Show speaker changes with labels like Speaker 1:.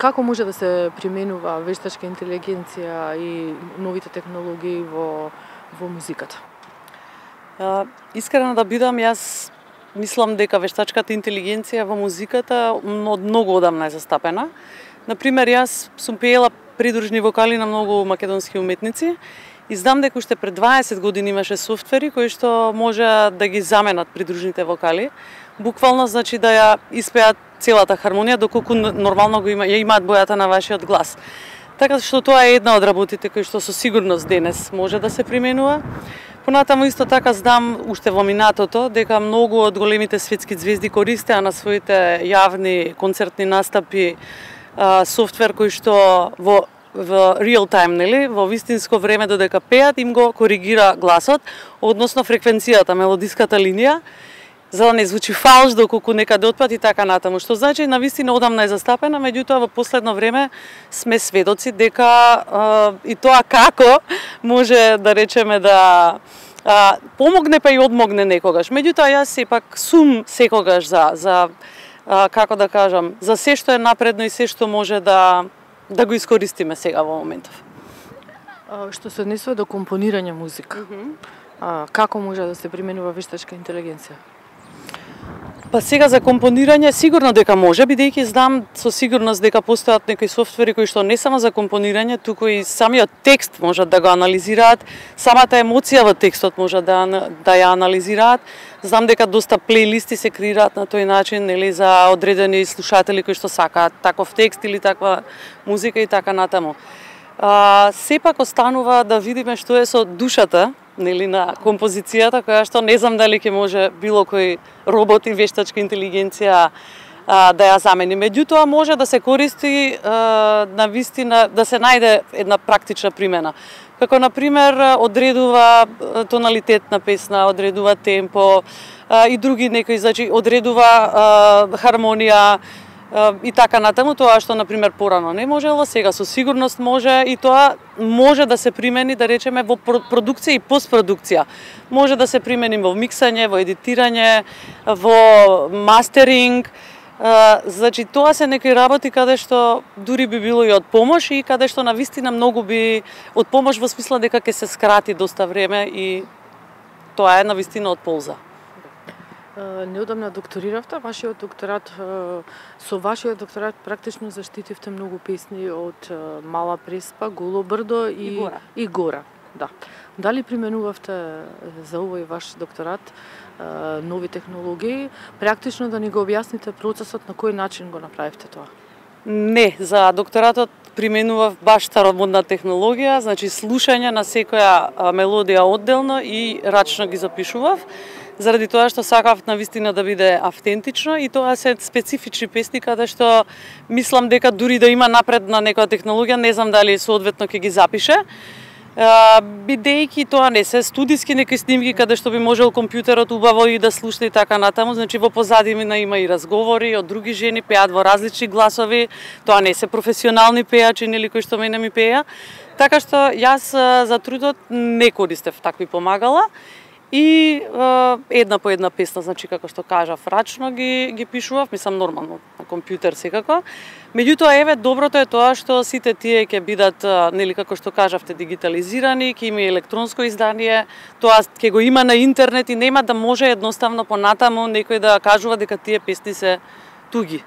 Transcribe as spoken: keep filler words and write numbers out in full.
Speaker 1: Како може да се применува вештачка интелигенција и новите технологии во во музиката?
Speaker 2: А, искрено да бидам, јас мислам дека вештачката интелигенција во музиката од многу одамна е застапена. Например, јас сум пеела придружни вокали на многу македонски уметници и знам дека уште пред дваесет години имаше софтвери кои што може да ги заменат придружните вокали. Буквално значи да ја испеат целата хармонија доколку нормално го има, ја имаат бојата на вашиот глас. Така што тоа е една од работите кои што со сигурност денес може да се применува. Понатаму исто така знам уште во минатото дека многу од големите светски звезди користеа на своите јавни концертни настапи а, софтвер кој што во во real time, нели, во вистинско време додека пеат им го коригира гласот, односно фреквенцијата, мелодиската линија, за да не звучи фалш доколку некаде отпат и така натаму, што значи навистина одамна е застапена, меѓутоа во последно време сме сведоци дека а, и тоа како може да речеме да а, помогне па и одмогне некогаш. Меѓутоа јас сепак сум секогаш за за а, како да кажам, за се што е напредно и се што може да да го искористиме сега во моментов.
Speaker 1: А, што се однесува до компонирање музика, mm -hmm. а, како може да се применува вештачка интелигенција?
Speaker 2: Па сега за компонирање сигурно дека може, бидејќи знам со сигурност дека постојат некои софтвери кои што не само за компонирање, туку и самиот текст можат да го анализираат, самата емоција во текстот можат да да ја анализираат. Знам дека доста плейлисти се креираат на тој начин, нели, за одредени слушатели кои што сакаат таков текст или таква музика и така натаму. А, сепак останува да видиме што е со душата, нели, на композицијата, која што не знам дали ќе може било кој робот и вештачка интелигенција а, да ја замени. Меѓутоа може да се користи а, на вистина, да се најде една практична примена. Како например одредува тоналитет на песна, одредува темпо а, и други некои, значи одредува а, хармонија а, и така натаму, тоа што например порано не можело, сега со сигурност може и тоа може да се примени, да речеме, во продукција и постпродукција. Може да се примени во миксање, во едитирање, во мастеринг. Uh, значи тоа се некои работи каде што дури би било и од помош и каде што навистина многу би од помош во смисла дека ќе се скрати доста време и тоа е навистина од полза.
Speaker 1: Uh, неодамна докториравте, вашиот докторат, uh, со вашиот докторат практично заштитивте многу песни од uh, Мала Преспа, Голо брдо и,
Speaker 2: и Гора.
Speaker 1: И гора. Да. Дали применувавте за овој ваш докторат нови технологии, практично да ни го објасните процесот на кој начин го направивте тоа?
Speaker 2: Не, за докторатот применував баш старомодна технологија, значи слушање на секоја мелодија одделно и рачно ги запишував, заради тоа што сакав навистина да биде автентично и тоа се специфични песни каде што мислам дека дури да има напредна некоја технологија, не знам дали соодветно ќе ги запише. Uh, бидејќи тоа не се студиски некои снимки каде што би можел компјутерот убаво и да слуша и така натаму, значи во позадина има и разговори од други жени, пеат во различни гласови, тоа не се професионални пеачи нели кои што мене ми пеа, така што јас за трудот не користев такви помагала и uh, една по една песна, значи како што кажав, рачно ги ги пишував, мислам нормално на компјутер секако. Меѓутоа, еве, доброто е тоа што сите тие ќе бидат, нели, како што кажавте, дигитализирани, ќе има и електронско издание, тоа ќе го има на интернет и нема да може едноставно понатаму некој да кажува дека тие песни се туги.